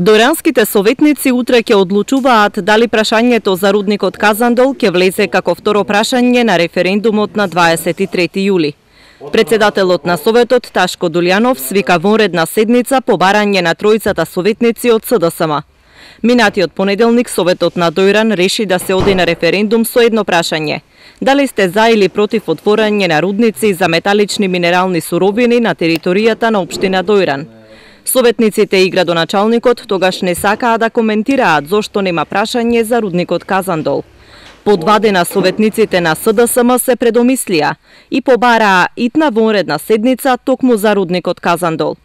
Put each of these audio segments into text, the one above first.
Дојранските советници утре ќе одлучуваат дали прашањето за рудникот Казандол ќе влезе како второ прашање на референдумот на 23 јули. Председателот на Советот Ташко Дулјанов свика вонредна седница по барање на тројцата советници од СДСМ. Минатиот понеделник Советот на Дојран реши да се оди на референдум со едно прашање: дали сте за или против отворање на рудници за металични минерални суровини на територијата на општина Дојран. Советниците и градоначалникот тогаш не сакаа да коментираат зошто нема прашање за рудникот Казандол. По 2 дена советниците на СДСМ се предомислија и побараа итна вонредна седница токму за рудникот Казандол.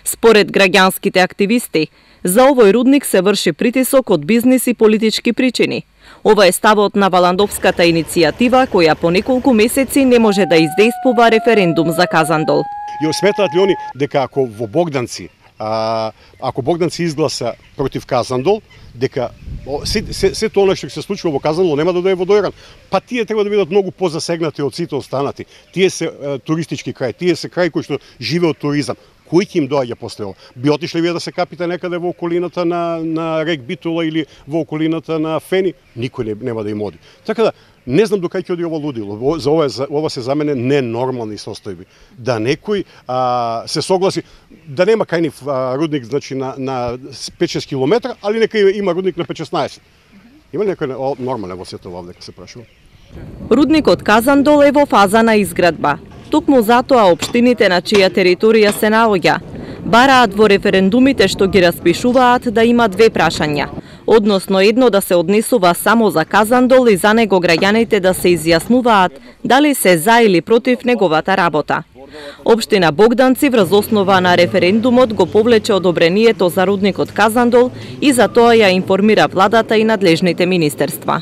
Според граѓанските активисти, за овој рудник се врши притисок од бизнис и политички причини. Ова е ставот на Валандовската иницијатива, која по неколку месеци не може да издействува референдум за Казандол. Ја сметаат ли они дека ако во Богданци, ако Богданци изгласа против Казандол, дека се тоа што се случува во Казандол нема да дое во Дојран? Па тие треба да бидат многу позасегнати од сите останати. Тие се туристички крај, тие се крај кој што живе од туризам. Кој ќе им доаѓа после ова? Би отишли вие да се капите некаде во околината на рек Битола или во околината на Фени? Никој нема да им оди. Така да, не знам до кај ќе оди ова лудило. Ова се за мене ненормални состојби. Да некој се согласи да нема кај нив рудник, значи на 5-6 километра, али нека има рудник на 5-16. Има некој нормален во сето ова, дека се прашува? Рудникот Казандол е во фаза на изградба. Токму затоа општините на чија територија се наоѓа бараат во референдумите што ги распишуваат да има 2 прашања, односно едно да се однесува само за Казандол и за него граѓаните да се изјаснуваат дали се за или против неговата работа. Општина Богданци врз основа на референдумот го повлече одобрението за рудникот Казандол и за тоа ја информира владата и надлежните министерства.